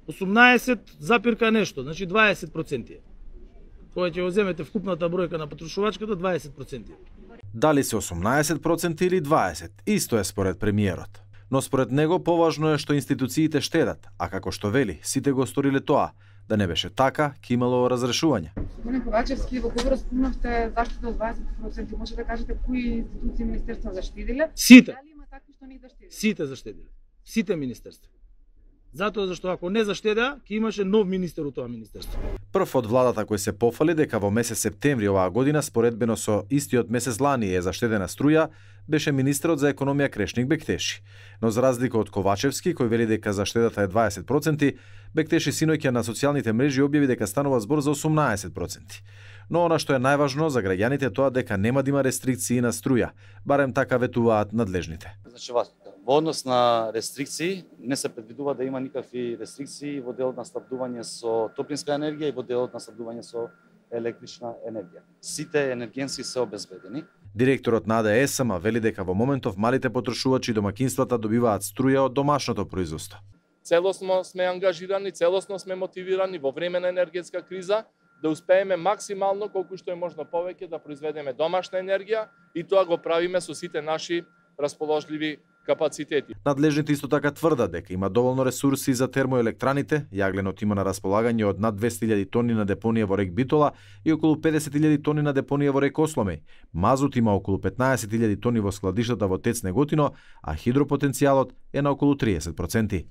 18 запирка нешто, значи 20%. Кога ќе го земете вкупната бројка на потрошувачката, 20%. Дали се 18% или 20%, исто е според премиерот. Но според него поважно е што институциите штедат, а како што вели, сите го сториле тоа. Да не беше така, ќе имало разрешување. Господин Ковачевски, во кога спомнавте заштита од 20%, може да кажете кои институции министерства заштедиле? Сите. Дали има такви што не заштедиле? Сите заштедиле. Сите министерства. Затоа зашто ако не заштедеа, ќе имаше нов министер од тоа министерство. Прв од владата кој се пофали дека во месец септември оваа година споредбено со истиот месец лани е заштедена струја, беше министерот за економија Крешник Бектеши. Но за разлика од Ковачевски, кој вели дека заштедата е 20%, Бектеши синоќа на социјалните мрежи објави дека станува збор за 18%. Но она што е најважно за граѓаните тоа дека нема да има рестрикции на струја, барем така ветуваат надлежните. Значи, во однос на рестрикции, не се предвидува да има никакви рестрикции во делот на снабдување со топлинска енергија и во делот на снабдување со електрична енергија. Сите енергенски се обезбедени. Директорот на АДСМ вели дека во моментов малите потрошувачи и домакинствата добиваат струја од домашното производство. Целосно сме ангажирани, целосно сме мотивирани во време на енергетска криза да успееме максимално колку што е можно повеќе да произведеме домашна енергија и тоа го правиме со сите наши расположливи капацитети. Надлежните исто така тврдат дека има доволно ресурси за термоелектраните, јагленот има на располагање од над 200.000 тони на депонија во рек Битола и околу 50.000 тони на депонија во рек Осломеј. Мазут има околу 15.000 тони во складиштата во ТЕЦ Неготино, а хидропотенцијалот е на околу 30%.